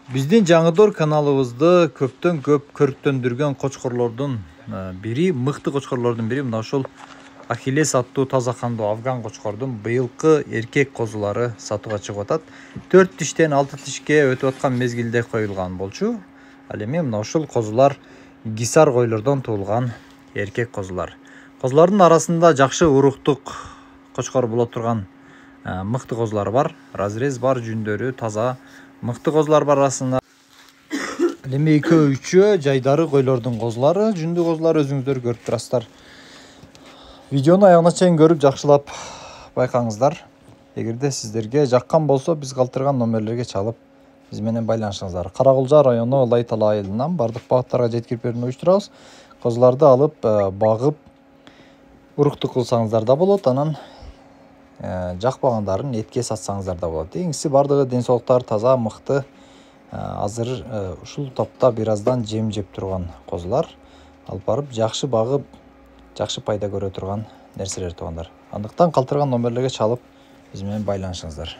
Биздин Жаңыдор каналыбызды көптөн көп көрктөндүргөн кочкорлордун бири, мыкты кочкорлордун бири мына ушул Ахиллес аттуу таза кандуу афган кочкордун быйылкы эркек козулары сатууга чыгып атат. 4 тиштен 6 тишке өтүп аткан мезгилде коюлган болчу. Ал эми мына ушул козулар гисар койлордон туулган эркек козулар. Козулардын арасында жакшы уруктук кочкор боло турган мыкты козулар бар. Разрез бар, жүндөрү таза мыкты козулар бар арасында. Ал эми экөө үчөө жайдары койлордун козулары, жүндүү козулар өзүңүздөр көрүп турасыздар. Видеону аягына чейин көрүп жакшылап байкаңыздар. Эгерде сиздерге жаккан болсо, биз калтырган номерлерге чалып биз менен байланышыңыздар. Каракулжа району Лайтала айылынан бардык багыттарга жеткирип берүүнү уюштурабыз. Козуларды алып, багып, уруктук кылсаңыздар да болот, анан жакпагандарын этке сатсаңыздар да болот. Эңиси бардыгы ден соолуктары таза, мыкты. Азыр ушул топто бир аздан жем жеп турган козулар. Алып барып жакшы багып, жакшы пайда көрө турган нерселер туугандар. Андыктан калтырган номерлерге чалып биз менен байланышыңыздар.